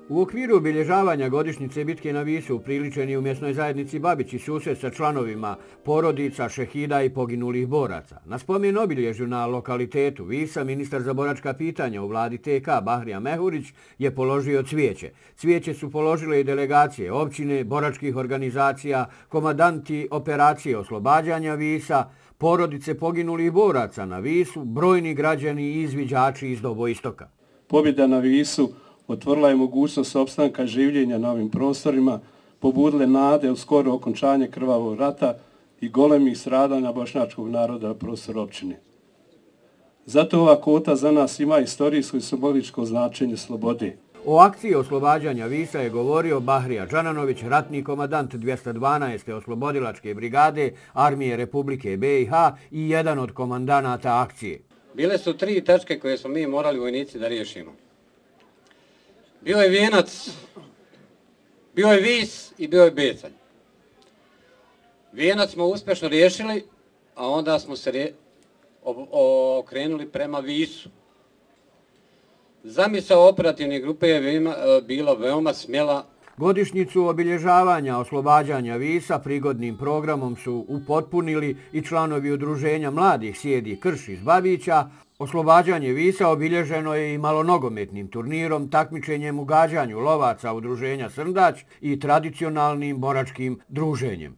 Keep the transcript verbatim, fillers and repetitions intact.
U okviru obilježavanja godišnjice bitke na Visu upriličen je u mjesnoj zajednici Babić i susret sa članovima porodica, šehida i poginulih boraca. Na spomen obilježju na lokalitetu Visa ministar za boračka pitanja u vladi T K Bahrija Mehurić je položio cvijeće. Cvijeće su položile i delegacije općine, boračkih organizacija, komandanti operacije oslobađanja Visa, porodice poginulih boraca na Visu, brojni građani i izviđači iz Doboistoka. Pobjeda na Visu otvorila je mogućnost opstanka življenja na ovim prostorima, pobudile nade u skoro okončanje krvavog rata i golemih stradanja bošnjačkog naroda na prostoru općine. Zato ova kota za nas ima istorijsko i simboličko značenje slobode. O akciji oslobađanja Visa je govorio Bahrija Džananović, ratni komandant dvjesto dvanaeste oslobodilačke brigade Armije Republike B i H i jedan od komandanata akcije. Bile su tri tačke koje smo mi morali vojnici da riješimo. Bio je Vijenac, bio je Vis i bio je Becanj. Vijenac smo uspješno riješili, a onda smo se rije, o, okrenuli prema Visu. Zamisao operativne grupe je veoma, bila veoma smjela. Godišnjicu obilježavanja oslobađanja Visa prigodnim programom su upotpunili i članovi udruženja mladih Sjedi Krš iz Babića. Oslobađanje Visa obilježeno je i malonogometnim turnirom, takmičenjem u gađanju lovaca udruženja Srndać i tradicionalnim boračkim druženjem.